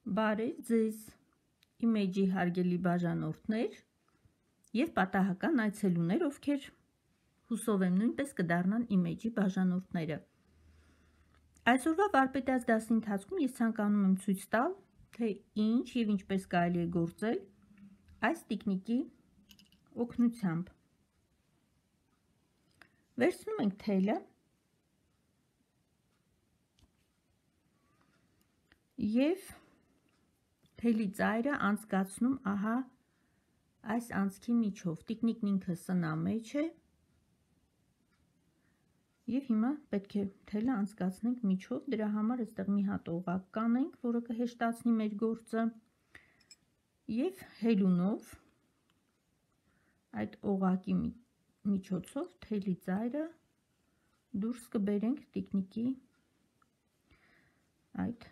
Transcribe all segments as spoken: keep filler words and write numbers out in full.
Բարև ձեզ, իմեջի հարգելի բաժանորդներ և պատահական այցելուներ, ովքեր հուսով եմ նույնպես կդառնան իմեջի բաժանորդները։ Այսօրվա վարպետաց դասի ընթացքում ես ցանկանում եմ ցույց տալ, թե ինչ և ինչպես կարելի է գործել այս տիկնիկի օգնությամբ։ Վերցնում ենք թելը և թելի ծայրը անցկացնում ահա այս անցքի միջով։ Տիկնիկն ինքը սնամեջ է և հիմա պետք է թելը անցկացնենք միջով, դրա համար այստեղ մի հատ օղակ կանենք, որը կհեշտացնի մեր գործը, և հելունով այդ օղակի միջոցով թելի ծայրը դուրս կբերենք տիկնիկի այդ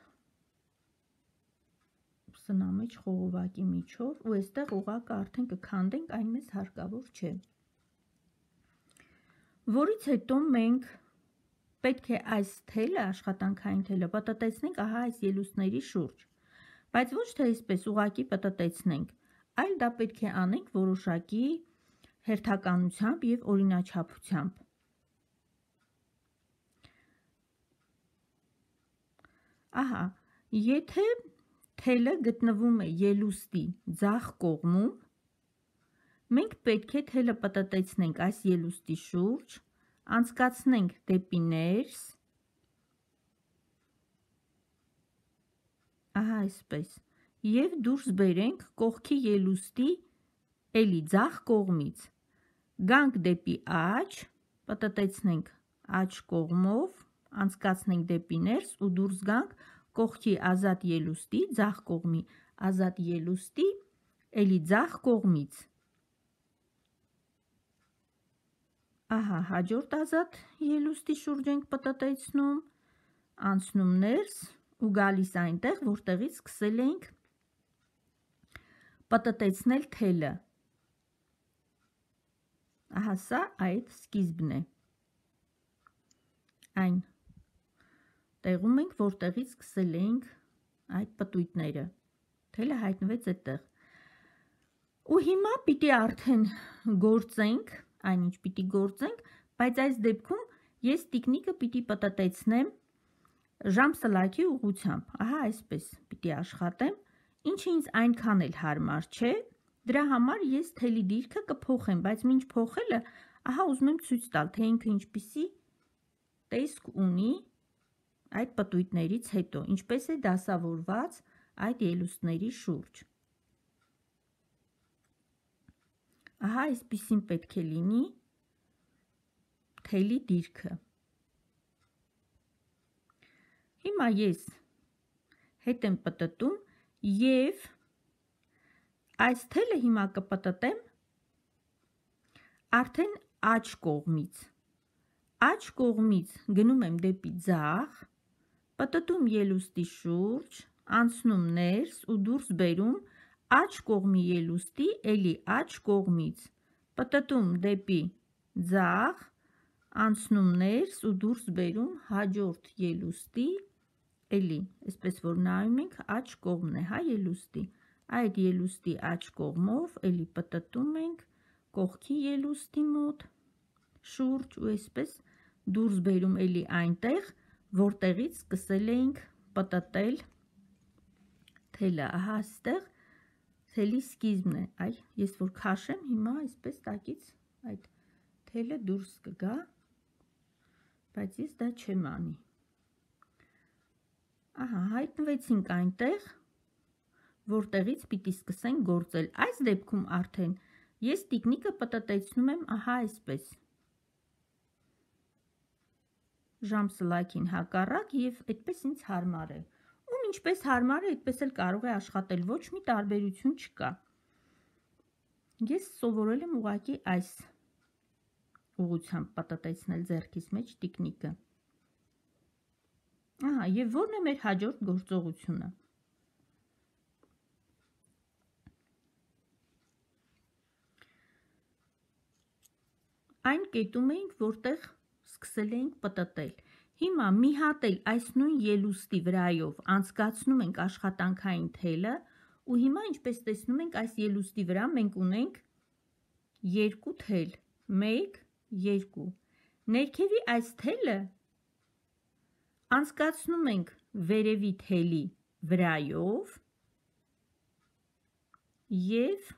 սնամեջ խողովակի միջով, ու այստեղ օղակը արդեն կքանդենք, այն մեզ հարկավոր չէ։ Որից հետո մենք պետք է այս թելը, աշխատանքային թելը, պտտեցնենք ահա այս ելուստների շուրջ, բայց ոչ թե այսպես ուղղակի պտտեցնենք, այլ դա պետք է անենք որոշակի հերթականությամբ և օրինաչափությամբ։ Ահա, եթե թելը գտնվում է ելուստի ձախ կողմում, մենք պետք է թելը պտտեցնենք այս ելուստի շուրջ, անցկացնենք դեպի ներս, ահա այսպես, և դուրս բերենք կողքի ելուստի էլի ձախ կողմից, գանք դեպի աջ, պտտեցնենք աջ կողմով, անցկացնենք դեպի ներս ու դուրս գանք կողքի ազատ ելուստի, ձախ կողմի ազատ ելուստի էլի ձախ կողմից։ Ահա, հաջորդ ազատ ելուստի շուրջ ենք պտտեցնում, անցնում ներս ու գալիս այնտեղ, որտեղից սկսել էինք պտտեցնել թելը։ Ահա սա այդ սկիզբն է։ Այն տեղում ենք, որտեղից սկսել էինք այդ պտույտները, թելը հայտնվեց այդտեղ։ Ու հիմա պիտի արդեն գործենք, այնինչ պիտի գործենք, բայց այս դեպքում ես տիկնիկը պիտի պտտեցնեմ ժամսլաքի ուղղությամբ, ահա այսպես պիտի աշխատեմ, ինչը ինձ այնքան էլ հարմար չէ, դրա համար ես թելի դիրքը կփոխեմ, բայց մինչ փոխելը, ահա ուզում եմ ցույց տալ, թե ինքը ինչպիսի տեսք ունի այդ պտույտներից հետո, ինչպես է դասավորված այդ ելուստների շուրջ։ Ահա այսպիսին պետք է լինի թելի դիրքը։ Հիմա ես հետ եմ պտտում և այս թելը հիմա կպտտեմ արդեն աջ կողմից։ Աջ կողմից գնում եմ դեպի ձախ, պտտում ելուստի շուրջ, անցնում ներս ու դուրս բերում աջ կողմի ելուստի էլի աջ կողմից, պտտում դեպի ձախ, անցնում ներս ու դուրս բերում հաջորդ ելուստի էլի, այսպես որ նայում ենք, աջ կողմն է, հա, ելուստի, այդ ելուստի աջ կողմով էլի պտտում ենք կողքի ելուստի մոտ շուրջ ու այսպես դուրս բերում էլի այնտեղ, որտեղից սկսել էինք պտտել թելը, ահա այստեղ թելի սկիզբն է, այ ես որ քաշեմ, հիմա այսպես տակից այդ թելը դուրս կգա, բայց ես դա չեմ անի։ Ահա, հայտնվեցինք այնտեղ, որտեղից պիտի սկսենք գործել։ Այս դեպքում արդեն ես տիկնիկը պտտեցնում եմ ահա այսպես, ժամսլաքին հակառակ, և այդպես ինձ հարմար է։ Ում ինչպես հարմար է, այդպես էլ կարող է աշխատել, ոչ մի տարբերություն չկա։ Ես սովորել եմ ուղղակի այս ուղղությամբ պտտեցնել ձեռքիս մեջ տիկնիկը։ Ահա, և որն է մեր հաջորդ գործողությունը։ Այն կետում էինք, որտեղ սկսել էինք պտտել։ Հիմա մի հատ էլ այս նույն ելուստի վրայով անցկացնում ենք աշխատանքային թելը ու հիմա ինչպես տեսնում ենք այս ելուստի վրա մենք ունենք երկու թել, մեկ, երկու։ Ներքևի այս թելը անցկացնում ենք վերևի թելի վրայով և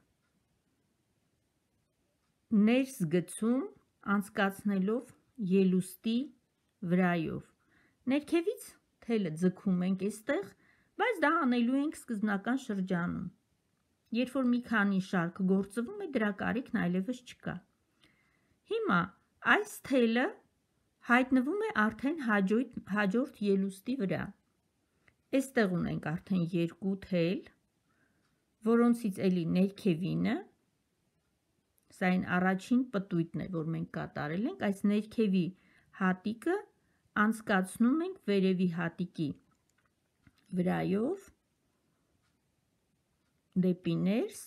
ներս գցում անցկացնելով ելուստի վրայով։ Ներքևից թելը ձգում ենք այստեղ, բայց դա անելու ենք սկզբնական շրջանում։ Երբ որ մի քանի շարք գործվում է, դրա կարիքն այլևս չկա։ Հիմա այս թելը հայտնվում է արդեն հաջորդ, հաջորդ ելուստի վրա։ Այստեղ ունենք արդեն երկու թել, որոնցից էլի ներքևինը, սա այն առաջին պտույտն է, որ մենք կատարել ենք, այս ներքևի հատիկը անցկացնում ենք վերևի հատիկի վրայով դեպի ներս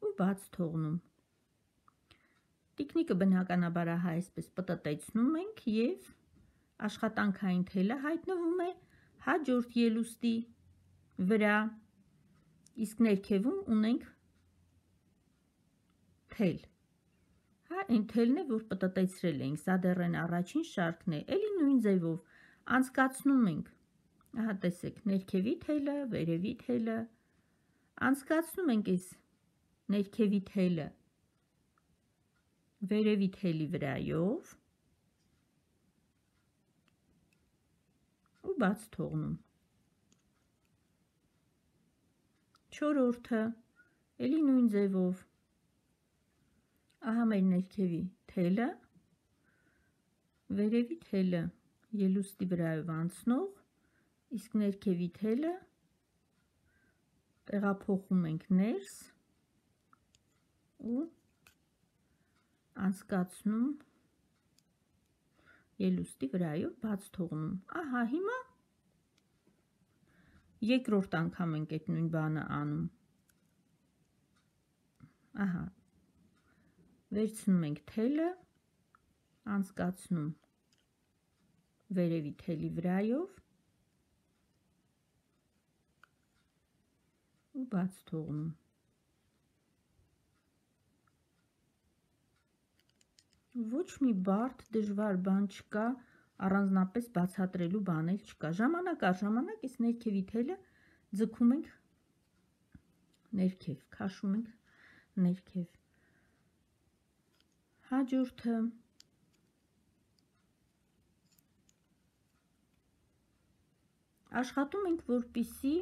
ու բաց թողնում։ Տիկնիկը բնականաբար ահա այսպես պտտեցնում ենք և աշխատանքային թելը հայտնվում է հաջորդ ելուստի վրա, իսկ ներքևում ունենք թել։ Հա, այն թելն է, որ պտտեցրել ենք, սա դեռ այն առաջին շարքն է, էլի նույն ձևով անցկացնում ենք, ահա տեսեք, ներքևի թելը, վերևի թելը, անցկացնում ենք այս ներքևի թելը վերևի թելի վրայով ու բաց թողնում։ Չորրորդը, էլի նույն ձևով, ահա մեր ներքևի թելը, վերևի թելը ելուստի վրայով անցնող, իսկ ներքևի թելը տեղափոխում ենք ներս ու անցկացնում ելուստի վրայով բաց թողնում։ Ահա հիմա երկրորդ անգամ ենք այդ նույն բանը անում։ Ահա վերցնում ենք թելը, անցկացնում վերևի թելի վրայով ու բաց թողնում։ Ոչ մի բարդ դժվար բան չկա, առանձնապես բացատրելու բաներ չկա։ Ժամանակ առ ժամանակ այս ներքևի թելը ձգում ենք ներքև, քաշում ենք ներքև։ Հաջորդը աշխատում ենք, որպեսզի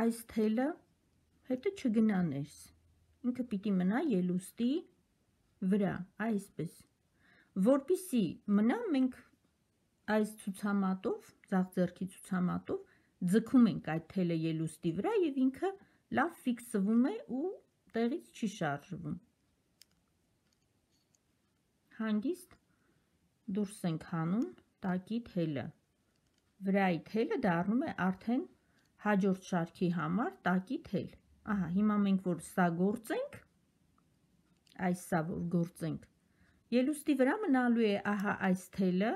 այս թելը հետը չգնա ներս, ինքը պիտի մնա ելուստի վրա, այսպես, որպեսզի մնա, մենք այս ցուցամատով, ձախ ձեռքի ցուցամատով ձգում ենք այդ թելը ելուստի վրա և ինքը լավ ֆիքսվում է ու տեղից չի շարժվում։ Հանգիստ դուրս ենք հանում տակի թելը, վրայի թելը դառնում է արդեն հաջորդ շարքի համար տակի թել։ Ահա, հիմա մենք որ սա գործենք, այս սա որ գործենք, ելուստի վրա մնալու է ահա այս թելը,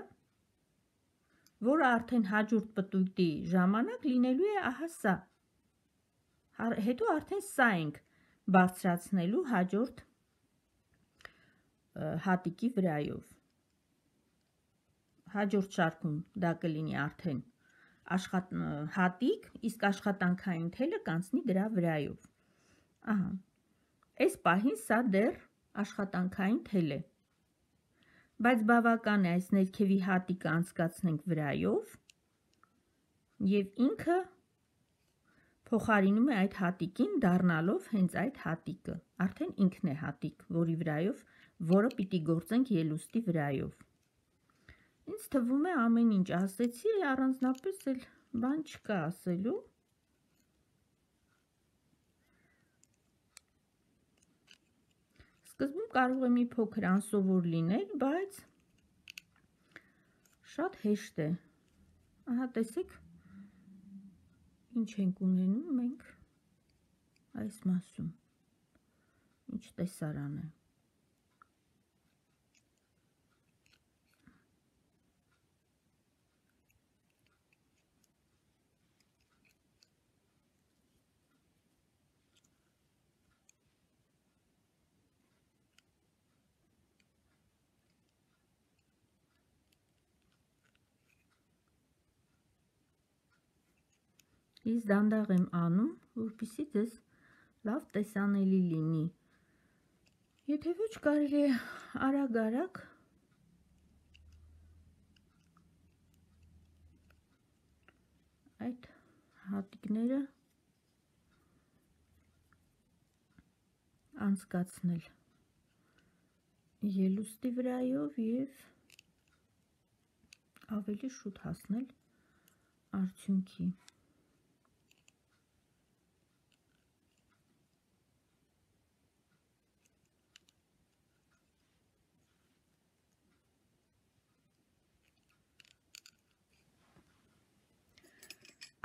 որը արդեն հաջորդ պտույտի ժամանակ լինելու է ահա սա։ Հետո արդեն սա ենք բարձրացնելու հաջորդ հատիկի վրայով։ Հաջորդ շարքում դա կլինի արդեն աշխատ... հատիկ, իսկ աշխատանքային թելը կանցնի դրա վրայով։ Ահա, այս պահին սա դեռ աշխատանքային թել է, բայց բավական է այս ներքևի հատիկը անցկացնենք վրայով և ինքը փոխարինում է այդ հատիկին, դառնալով հենց այդ հատիկը, արդեն ինքն է հատիկ, որի վրայով, որը պիտի գործենք ելուստի վրայով։ Ինձ թվում է ամեն ինչ ասեցի, առանձնապես էլ բան չկա ասելու։ Սկզբում կարող է մի փոքր անսովոր լինել, բայց շատ հեշտ է։ Ահա տեսեք, ինչ ենք ունենում մենք այս մասում, ինչ տեսարան է։ Ես դանդաղ եմ անում, որպեսզի ձեզ լավ տեսանելի լինի։ Եթե ոչ կարելի է արագ-արագ այդ հատիկները անցկացնել ելուստի վրայով և ավելի շուտ հասնել արդյունքի։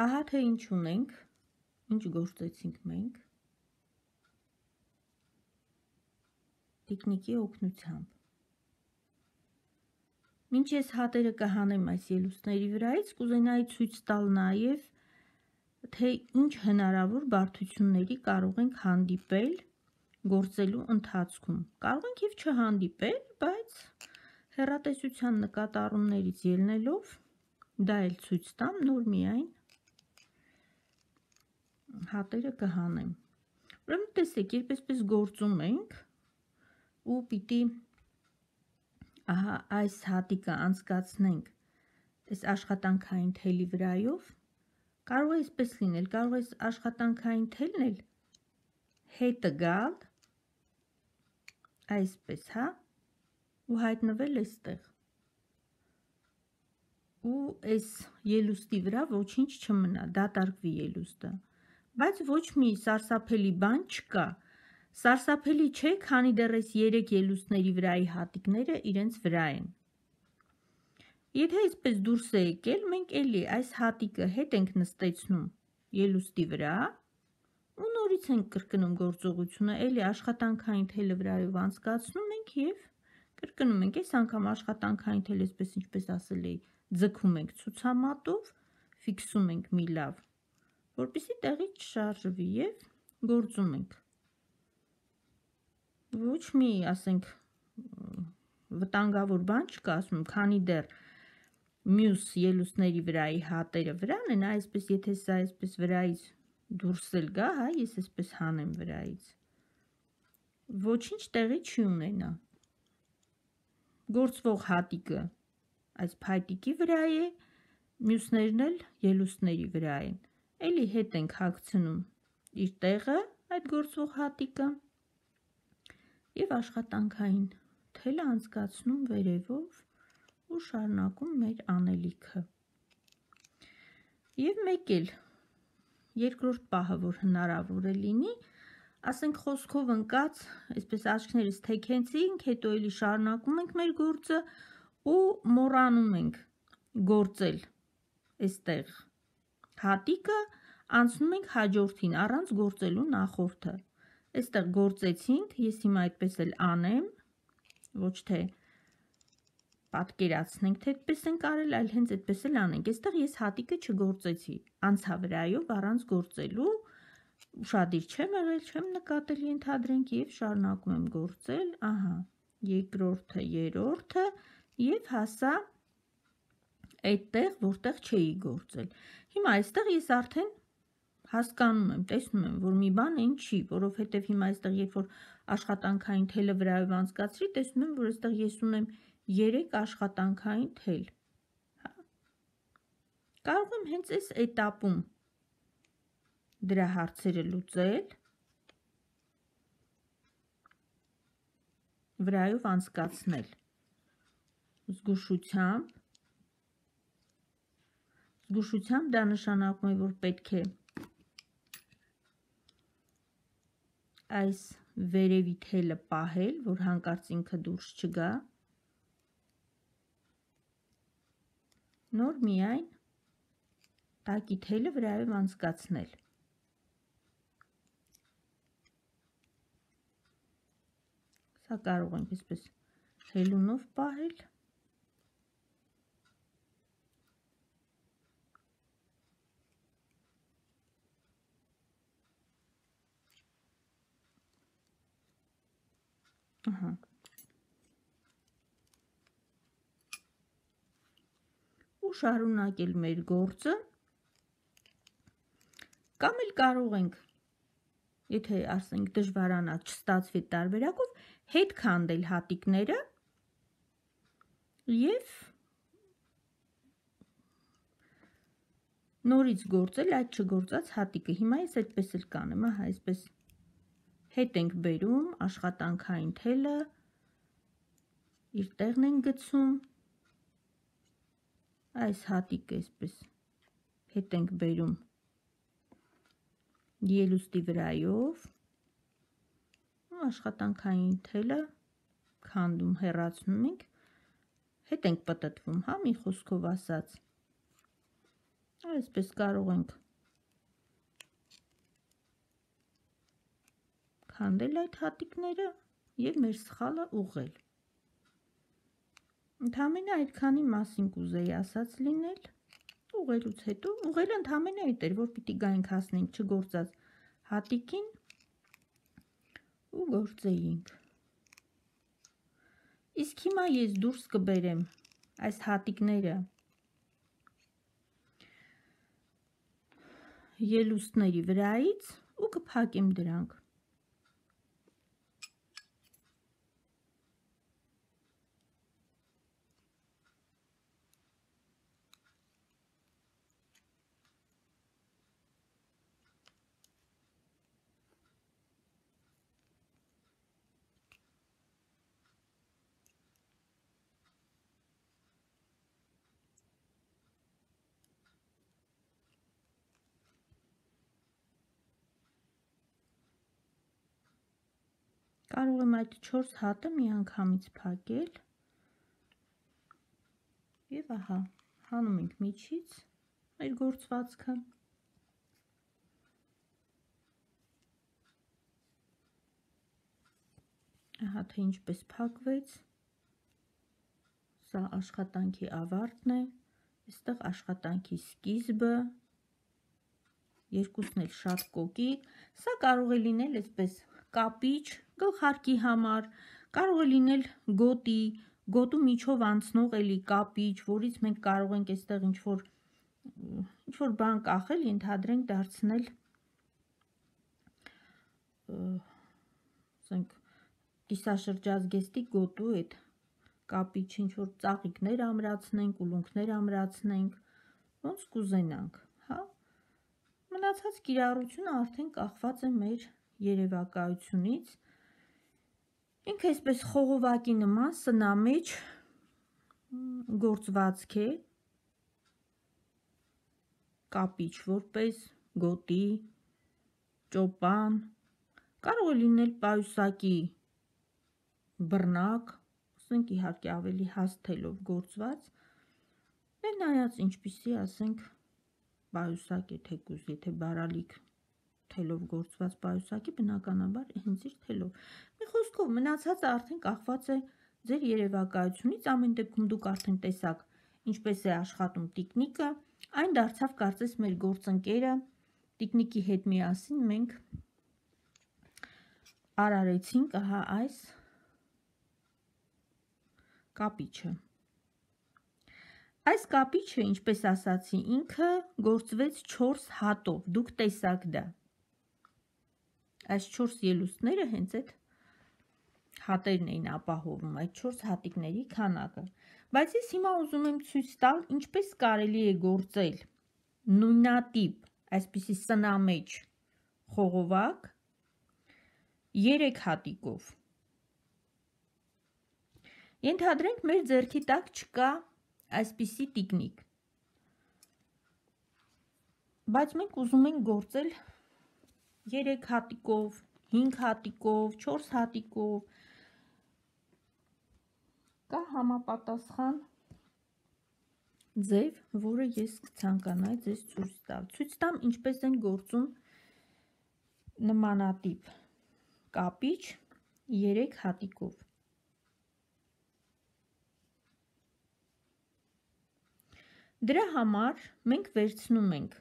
Ահա թե ինչ ունենք, ինչ գործեցինք մենք տիկնիկի օգնությամբ։ Մինչ ես հատերը կհանեմ այս ելուստների վրայից, կուզենայի ցույց տալ նաև, թե ինչ հնարավոր բարդությունների կարող ենք հանդիպել գործելու ընթացքում։ Կարող ենք և չհանդիպել, բայց հեռատեսության նկատառումներից ելնելով դա էլ ցույց տամ, նոր միայն հատերը կհանեմ։ Ուրեմն տեսեք, երբ այսպես գործում ենք ու պիտի ահա այս հատիկը անցկացնենք այս աշխատանքային թելի վրայով, կարող է այսպես լինել, կարող է աշխատանքային թելն էլ հետը գալ այսպես, հա, ու հայտնվել այստեղ։ Ու այս ելուստի վրա ոչինչ չմնա, դատարկվի ելուստը։ Բայց ոչ մի սարսափելի բան չկա։ Սարսափելի չէ, քանի դեռ այս երեք ելուստների վրայի հատիկները իրենց վրա են։ Եթե այսպես դուրս է եկել, մենք էլի այս հատիկը հետ ենք նստեցնում ելուստի վրա ու նորից ենք կրկնում գործողությունը, էլի աշխատանքային թելը վրայով անցկացնում ենք և կրկնում ենք, այս անգամ աշխատանքային թելը, այսպես ինչպես ասել էի, ձգում ենք ցուցամատով, ֆիքսում ենք մի լավ, որպեսզի տեղից չշարժվի և գործում ենք։ Ոչ մի, ասենք, վտանգավոր բան չկա, ասում եմ, քանի դեռ մյուս ելուստների վրայի հատերը վրան են, այսպես, եթե սա այսպես վրայից դուրս էլ գա, հա, ես այսպես հանեմ վրայից, ոչինչ տեղի չի ունենա։ Գործվող հատիկը այս փայտիկի վրա է, մյուսներն էլ ելուստների վրա են։ Էլի հետ ենք հագցնում իր տեղը այդ գործվող հատիկը և աշխատանքային թելը անցկացնում վերևով ու շարունակում մեր անելիքը։ Եվ մեկ էլ երկրորդ պահը, որ հնարավոր է լինի, ասենք խոսքով ընկած, այսպես աչքներս թեքեցինք, հետո էլի շարունակում ենք մեր գործը ու մոռանում ենք գործել այստեղ հատիկը, անցնում ենք հաջորդին առանց գործելու նախորդը։ Այստեղ գործեցինք, ես հիմա այդպես էլ անեմ, ոչ թե պատկերացնենք, թե այդպես ենք արել, այլ հենց այդպես էլ անենք։ Այստեղ ես հատիկը չգործեցի, անցա վրայով առանց գործելու, ուշադիր չեմ եղել, չեմ նկատել, ենթադրենք, և շարունակում եմ գործել, ահա, երկրորդը, երրորդը և հասա այդտեղ, որտեղ չէի գործել։ Հիմա այստեղ ես արդեն հասկանում եմ, տեսնում եմ, որ մի բան այն չի, որովհետև հիմա այստեղ, երբ որ աշխատանքային թելը վրայով անցկացրի, տեսնում եմ, որ այստեղ ես ունեմ երեք աշխատանքային թել։ Կարող եմ հենց այս էտապում դրա հարցերը լուծել, վրայով անցկացնել զգուշությամբ, զգուշությամբ դա նշանակում է, որ պետք է այս վերևի թելը պահել, որ հանկարծ ինքը դուրս չգա, նոր միայն տակի թելը վրայով անցկացնել։ Սա կարող ենք այսպես հելունով պահել։ Ահա։ Ու շարունակել մեր գործը, Կամ էլ կարող ենք, եթե ասենք դժվարանա չստացվի տարբերակով, հետ քանդել հատիկները և նորից գործել այդ չգործած հատիկը։ Հիմա ես այդպես էլ կանեմ, ահա, այսպես հետ ենք բերում աշխատանքային թելը, իր տեղն ենք գցում, այս հատիկը այսպես հետ ենք բերում ելուստի վրայով, աշխատանքային թելը քանդում, հեռացնում ենք, հետ ենք պտտվում, հա, մի խոսքով ասած, այսպես կարող ենք քանդել այդ հատիկները և մեր սխալը ուղղել։ Ընդամենը այդքանի մասին կուզեի ասած լինել, ուղղելուց հետո, ուղղելը ընդամենը այդ էր, որ պիտի գայինք հասնենք չգործած հատիկին ու գործեինք։ Իսկ հիմա ես դուրս կբերեմ այս հատիկները ելուստների վրայից ու կփակեմ դրանք։ Կարող եմ այդ չորս հատը մի անգամից փակել և ահա, հանում ենք միջից մեր գործվածքը։ Ահա թե ինչպես փակվեց, սա աշխատանքի ավարտն է, այստեղ աշխատանքի սկիզբը, երկուսն էլ շատ կոկիկ, սա կարող է լինել այսպես կապիչ, գլխարկի համար, կարող է լինել գոտի, գոտու միջով անցնող էլի կապիչ, որից մենք կարող ենք այստեղ ինչ-որ ինչ-որ բան կախել, ենթադրենք դարձնել ասենք կիսաշրջազգեստի գոտու այդ կապիչ ինչ-որ ծաղիկներ ամրացնենք, ուլունքներ ամրացնենք, ոնց կուզենանք, հա։ Մնացած կիրառությունը արդեն կախված է մեր երևակայությունից։ Ինքը այսպես խողովակի նման սնամեջ գործվածք է, կապիչ որպես գոտի, ճոպան, կարող է լինել պայուսակի բռնակ, ասենք իհարկե ավելի հաստ թելով գործված, դե նայած ինչպիսի ասենք պայուսակ է թեկուզ, եթե բարալիկ թելով գործված պայուսակի, բնականաբար հենց իր թելով։ Մի խոսքով մնացածը արդեն կախված է ձեր երևակայությունից, ամեն դեպքում դուք արդեն տեսաք ինչպես է աշխատում տիկնիկը, այն դարձավ կարծես մեր գործընկերը, տիկնիկի հետ միասին մենք արարեցինք ահա այս կապիչը։ Այս կապիչը, ինչպես ասացի, ինքը գործվեց չորս հատով, դուք տեսաք դա։ Այս չորս ելուստները հենց այդ հատերն էին ապահովում, այդ չորս հատիկների քանակը։ Բայց ես հիմա ուզում եմ ցույց տալ, ինչպես կարելի է գործել նույնատիպ, այսպիսի սնամեջ խողովակ երեք հատիկով։ Ենթադրենք մեր ձեռքի տակ չկա այսպիսի տիկնիկ, բայց մենք ուզում ենք գործել երեք հատիկով, հինգ հատիկով, չորս հատիկով, կա համապատասխան ձև, որը ես կցանկանայի ձեզ ցույց տալ։ Ցույց տամ ինչպես են գործում նմանատիպ կապիչ երեք հատիկով։ Դրա համար մենք վերցնում ենք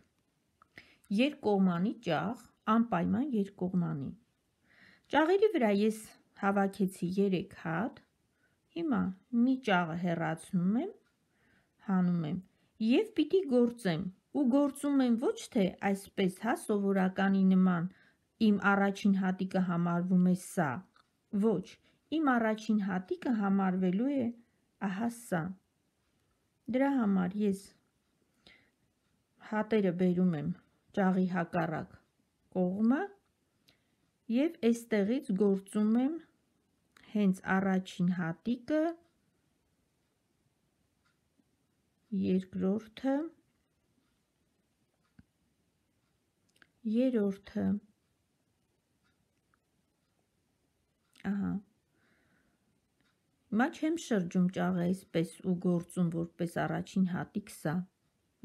երկկողմանի ճաղ, անպայման երկկողմանի։ Ճաղերի վրա ես հավաքեցի երեք հատ, հիմա մի ճաղը հեռացնում եմ, հանում եմ և պիտի գործեմ ու գործում եմ ոչ թե այսպես, հա, սովորականի նման իմ առաջին հատիկը համարվում է սա, ոչ, իմ առաջին հատիկը համարվելու է ահա սա։ Դրա համար ես հատերը բերում եմ ճաղի հակառակ կողմը և այստեղից գործում եմ հենց առաջին հատիկը, երկրորդը, երրորդը, ահա, հիմա չեմ շրջում ճաղը այսպես ու գործում որպես առաջին հատիկ սա,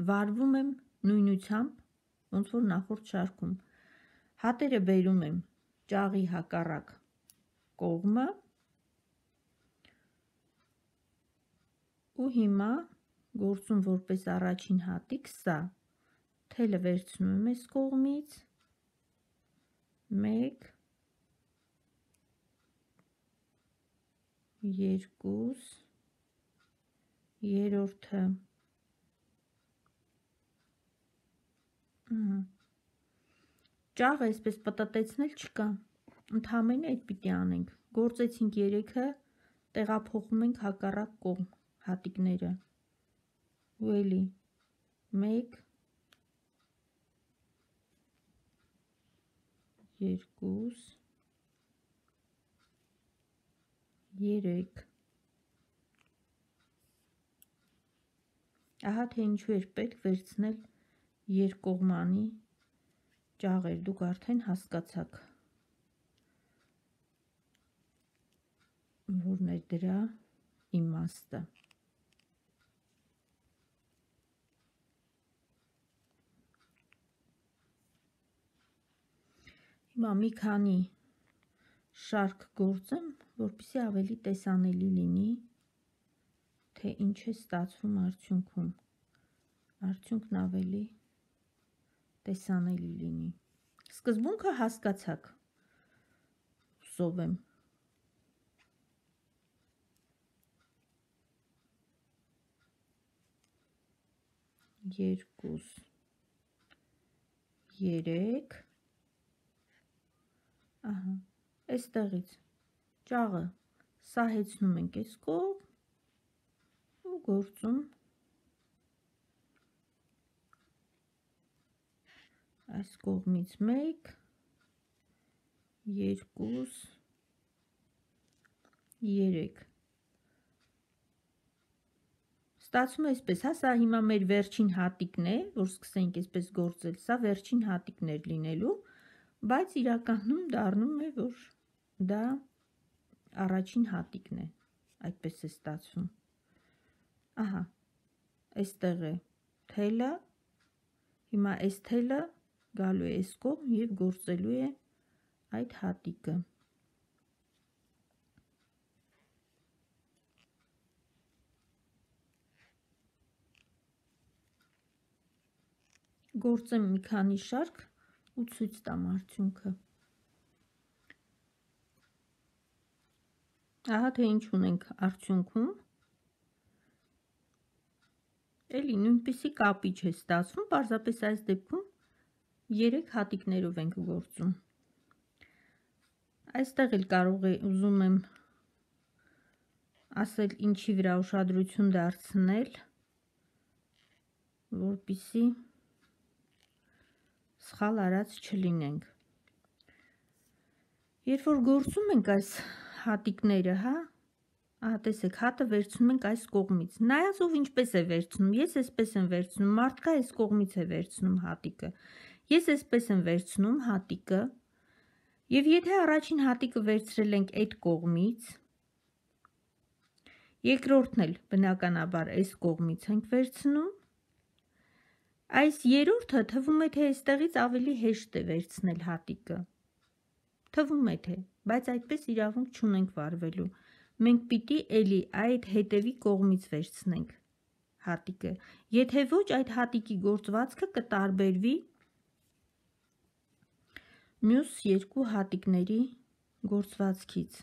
վարվում եմ նույնությամբ, ոնց որ նախորդ շարքում, հատերը բերում եմ ճաղի հակառակ կողմը ու հիմա գործում որպես առաջին հատիկ սա, թելը վերցնում եմ այս կողմից, մեկ, երկուս, երրորդը, ճաղը այսպես պտտեցնել չկա, ընդհանրապես այդ պիտի անենք, գործեցինք երեքը, տեղափոխում ենք հակառակ կողմ հատիկները, ու էլի, մեկ, երկուս, երեք, ահա թե ինչու էր պետք վերցնել երկկողմանի ճաղեր, դուք արդեն հասկացաք, որն է դրա իմաստը։ Հիմա մի քանի շարք գործեմ, որպեսզի ավելի տեսանելի լինի, թե ինչ է ստացվում արդյունքում, արդյունքն ավելի տեսանելի լինի։ Սկզբունքը հասկացաք, հուսով եմ։ Երկուս, երեք, ահա, այստեղից ճաղը սահեցնում ենք այս կողմ ու գործում այս կողմից մեկ, երկուս, երեք։ Ստացվում է այսպես, հա, սա հիմա մեր վերջին հատիկն է, որ սկսենք այսպես գործել, սա վերջին հատիկն էր լինելու, բայց իրականում դառնում է, որ դա առաջին հատիկն է, այդպես է ստացվում։ Ահա, այստեղ է թելը, հիմա այս թելը գալու է այս կողմ և գործելու է այդ հատիկը։ Գործեմ մի քանի շարք ու ցույց տամ արդյունքը։ Ահա թե ինչ ունենք արդյունքում։ Էլի նույնպիսի կապիչ է ստացվում, պարզապես այս դեպքում երեք հատիկներով ենք գործում։ Այստեղ էլ կարող է ուզում եմ ասել ինչի վրա ուշադրություն դարձնել, որպեսզի սխալ արած չլինենք։ Երբ որ գործում ենք այս հատիկները, հա, ահա տեսեք, հատը վերցնում ենք այս կողմից։ Նայած ով ինչպես է վերցնում, ես այսպես եմ վերցնում, մարդկա այս կողմից է վերցնում հատիկը։ Ես այսպես եմ վերցնում հատիկը, եւ եթե առաջին հատիկը վերցրել ենք այդ կողմից, երկրորդն էլ բնականաբար այս կողմից ենք վերցնում, այս երրորդը թվում է, թե այստեղից ավելի հեշտ է վերցնել հատիկը, թվում է թե, բայց այդպես իրավունք չունենք վարվելու, մենք պիտի էլի այդ հետևի կողմից վերցնենք հատիկը, եթե ոչ այդ հատիկի գործվածքը կտարբերվի մյուս երկու հատիկների գործվածքից,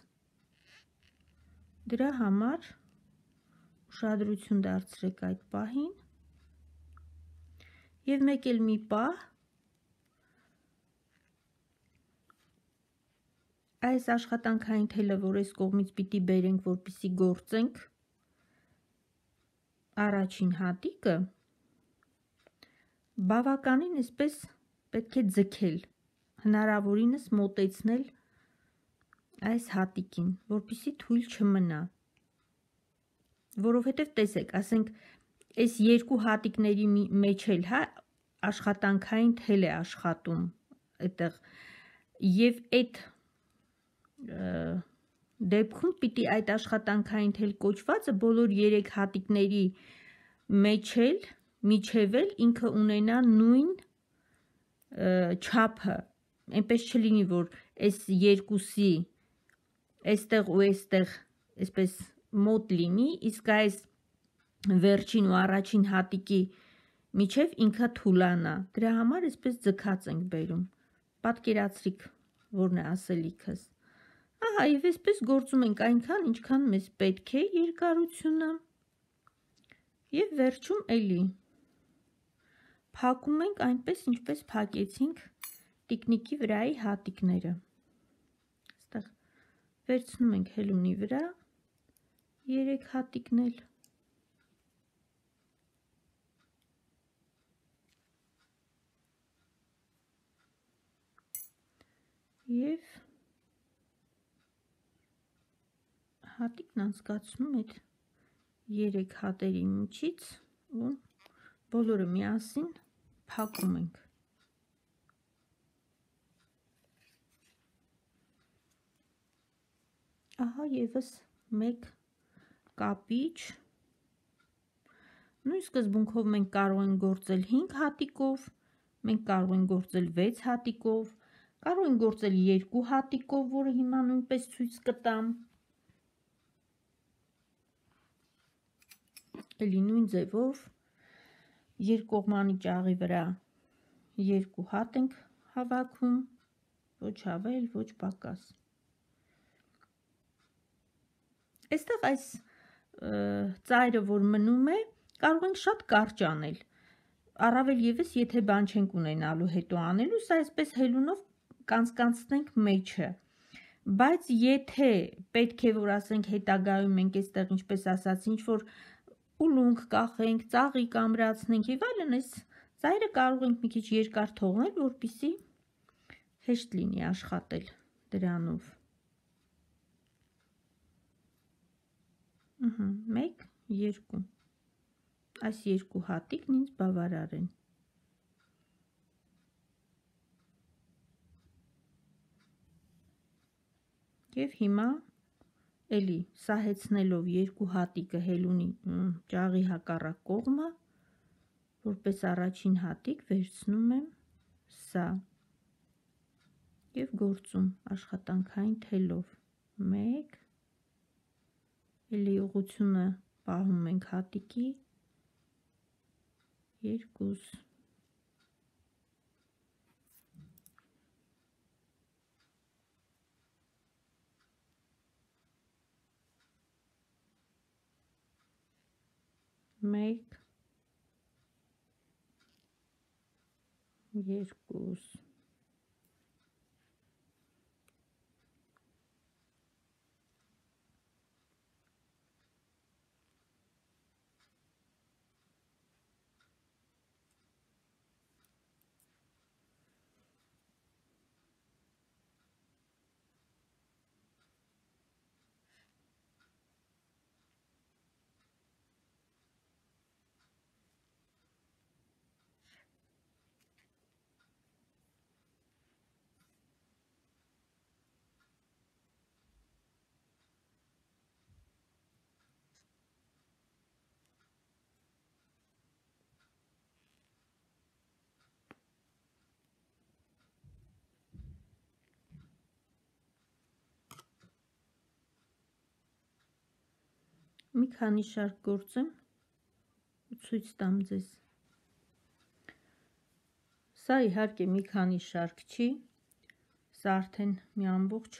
դրա համար ուշադրություն դարձրեք այդ պահին, Եվ մեկ էլ մի պահ այս աշխատանքային թելը, որ այս կողմից պիտի բերենք, որպեսզի գործենք առաջին հատիկը, բավականին այսպես պետք է ձգել, հնարավորինս մոտեցնել այս հատիկին, որպեսզի թույլ չմնա, որովհետև տեսեք, ասենք, այս երկու հատիկների մեջ էլ, հա, աշխատանքային թել է աշխատում այդտեղ, եւ այդ դեպքում պիտի այդ աշխատանքային թել կոչվածը բոլոր երեք հատիկների մեջ էլ, միջև էլ ինքը ունենա նույն չափը, այնպես չլինի, որ այս երկուսի այստեղ ու այստեղ այսպես մոտ լինի, իսկ այս վերջին ու առաջին հատիկի միջև ինքը թուլանա, դրա համար այսպես ձգած ենք բերում, պատկերացրիք, որն է ասելիքս, ահա, եւ այսպես գործում ենք այնքան, ինչքան մեզ պետք է երկարությունը, եւ վերջում էլի փակում ենք այնպես, ինչպես փակեցինք տիկնիկի վրայի հատիկները, այստեղ վերցնում ենք հելունի վրա երեք հատիկն էլ, եւ հատիկն անցկացնում այդ երեք հատերի միջից ու բոլորը միասին փակում ենք։ Ահա եւս մեկ կապիչ, նույն սկզբունքով մենք կարող ենք գործել հինգ հատիկով, մենք կարող ենք գործել վեց հատիկով, կարող ենք գործել երկու հատիկով, որը հիմա նույնպես ցույց կտամ։ Էլի նույն ձևով երկկողմանի ճաղի վրա երկու հատ ենք հավաքում, ոչ ավել, ոչ պակաս։ Այստեղ այս ծայրը, որ մնում է, կարող ենք շատ կարճ անել, առավել ևս, եթե բան չենք ունենալու հետո անելու, սա այսպես հելունով կանցկանցնենք մեջը, բայց եթե պետք է, որ ասենք հետագայում մենք այստեղ, ինչպես ասացի, ինչ-որ ուլունք կախենք, ծաղիկ ամրացնենք եւ այլն, այս ծայրը կարող ենք մի քիչ երկար թողնել, որպեսզի հեշտ լինի աշխատել դրանով։ Ահա, մեկ, երկու։ Այս երկու հատիկն ինձ բավարար են։ Եվ հիմա էլի սահեցնելով երկու հատիկը հելունի ճաղի հակառակ կողմը, որպես առաջին հատիկ վերցնում եմ սա եւ գործում աշխատանքային թելով, մեկ, էլի ուղղությունը պահում ենք հատիկի, երկուս, մեկ, երկուս, մի քանի շարք գործեմ ու ցույց տամ ձեզ։ Սա իհարկե մի քանի շարք չի, սա արդեն մի ամբողջ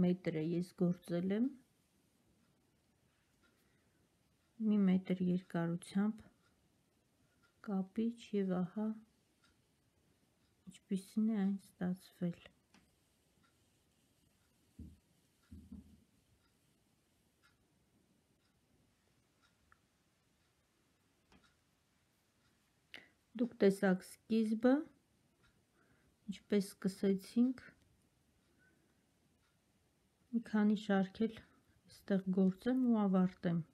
մետր է ես գործել եմ, մի մետր երկարությամբ կապիչ և ահա ինչպիսին է այն ստացվել։ Դուք տեսաք սկիզբը, ինչպես սկսեցինք մի քանի շարքել այստեղ գործեմ ու ավարտեմ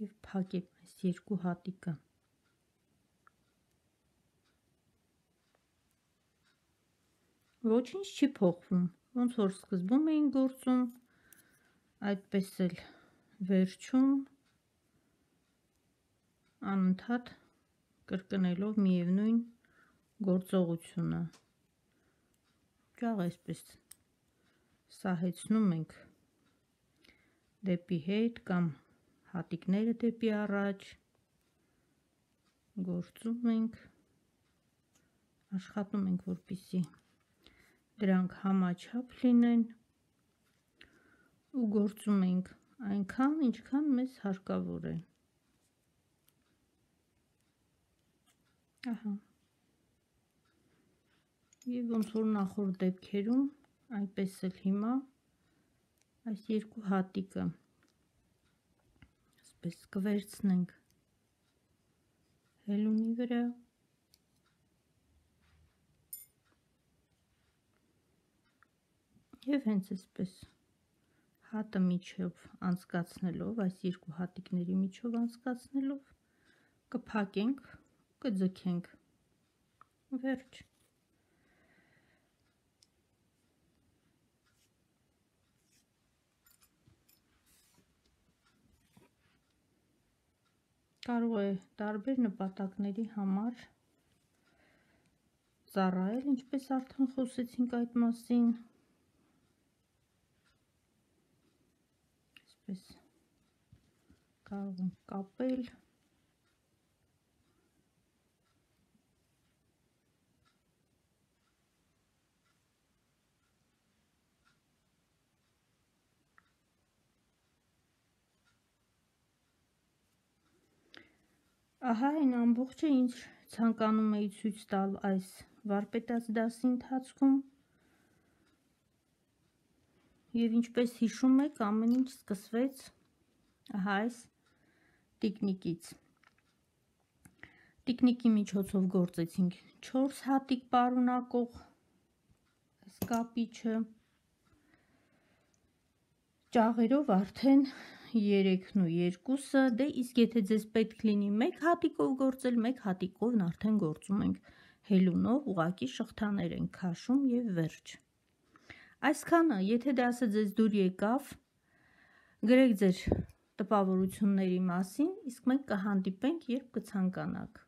և փակեմ այս երկու հատիկը։ Ոչինչ չի փոխվում, ոնց որ սկզբում էին գործում, այդպես էլ վերջում անընդհատ կրկնելով միևնույն գործողությունը։ Ճաղ այսպես սահեցնում ենք դեպի հետ կամ հատիկները դեպի առաջ, գործում ենք, աշխատում ենք, որպեսզի դրանք համաչափ լինեն ու գործում ենք այնքան, ինչքան մեզ հարկավոր է։ Ահա։ Եվ ոնց որ նախորդ դեպքերում, այնպես էլ հիմա այս երկու հատիկը այսպես կվերցնենք հելունի վրա և հենց այսպես հատը միջով անցկացնելով, այս երկու հատիկների միջով անցկացնելով կփակենք, կձգենք, վերջ։ Կարող է տարբեր նպատակների համար ծառայել, ինչպես արդեն խոսեցինք այդ մասին, այսպես կարող ենք կապել, ահա այն ամբողջը, ինչ ցանկանում էի ցույց տալ այս վարպետաց դասի ընթացքում, և ինչպես հիշում եք, ամեն ինչ սկսվեց ահա այս տիկնիկից։ Տիկնիկի միջոցով գործեցինք չորս հատիկ պարունակող այս կապիչը, ճաղերով արդեն երեքն ու երկուսը, դե իսկ եթե ձեզ պետք լինի մեկ հատիկով գործել, մեկ հատիկով արդեն գործում ենք հելունով, ուղղակի շղթաներ ենք քաշում և վերջ։ Այսքանը, եթե դասը ձեզ դուր եկավ, գրեք ձեր տպավորությունների մասին, իսկ մենք կհանդիպենք, երբ կցանկանաք։